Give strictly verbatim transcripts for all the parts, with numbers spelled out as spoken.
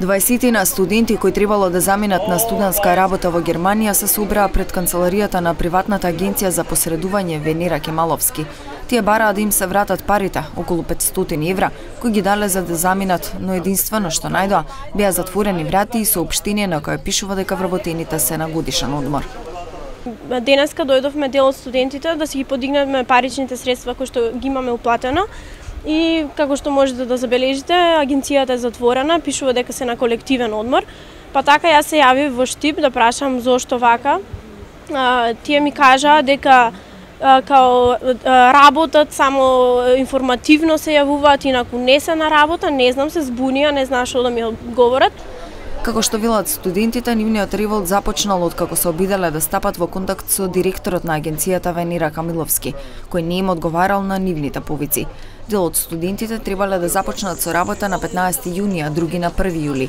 дваесетина студенти кои требало да заминат на студентска работа во Германија се собраа пред канцеларијата на приватната агенција за посредување Венера Кемаловски. Тие бараа да им се вратат парите, околу петстотини евра, кои ги дале за да заминат, но единствено што најдоа беа затворени врати и соопштение на кое пишува дека вработените се на годишен одмор. Денеска дојдовме дел од студентите да си ги подигнеме паричните средства кои што ги имаме уплатено. И како што можете да забележите, агенцијата е затворена, пишува дека се на колективен одмор. Па така јас се јавив во Штип да прашам зошто вака. А, тие ми кажаа дека а, као а, работат само информативно се јавуваат, инаку не се на работа, не знам, се збунија, не знаат што да ми одговорат. Како што велат студентите, нивниот револт започнал од како се обиделе да стапат во контакт со директорот на агенцијата Венера Камиловски, кој не им одговарал на нивните повици. Дел од студентите требале да започнат со работа на петнаесети јуни, а други на први јули.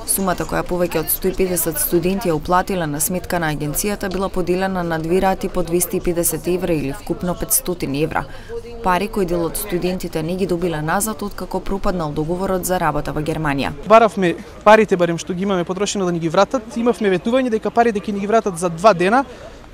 Сумата која повеќе од сто и педесет студенти ја уплатила на сметка на агенцијата била поделена на две рати по двесте и педесет евра или вкупно петстотини евра. Пари кои дел од студентите не ги добиле назад откако пропаднал договорот за работа во Германија. Баравме парите барем што ги имаме потрошено да ни ги вратат. Имавме ветување дека парите ќе ни ги вратат за два дена.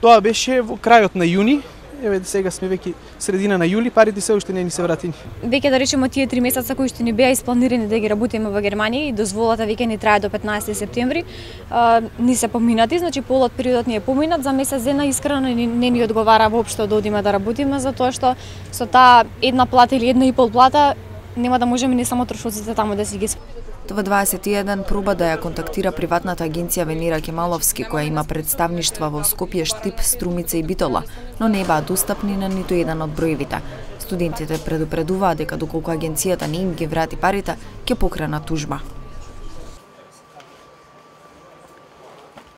Тоа беше во крајот на јуни. Еве сега сме веќе средина на јули, парите се уште не ни се вратени. Веќе да речеме тие три месеца кои што ни беа испланирани да ги работиме во Германија и дозволата веќе ни трае до петнаесети септември, а, ни се поминати, значи полот периодот ни е поминат, за месец дена искрено не, не ни одговара воопшто да одиме да работиме, затоа што со таа една плата или една и пол плата нема да можеме не само трошоците таму да си ги Тоа дваесет и еден проба да ја контактира приватната агенција Венера Кемаловски, која има представништва во Скопје, Штип, Струмица и Битола, но не баа достапни на ниту еден од броевите. Студентите предупредуваат дека доколку агенцијата не им ги врати парите, ќе покренат тужба.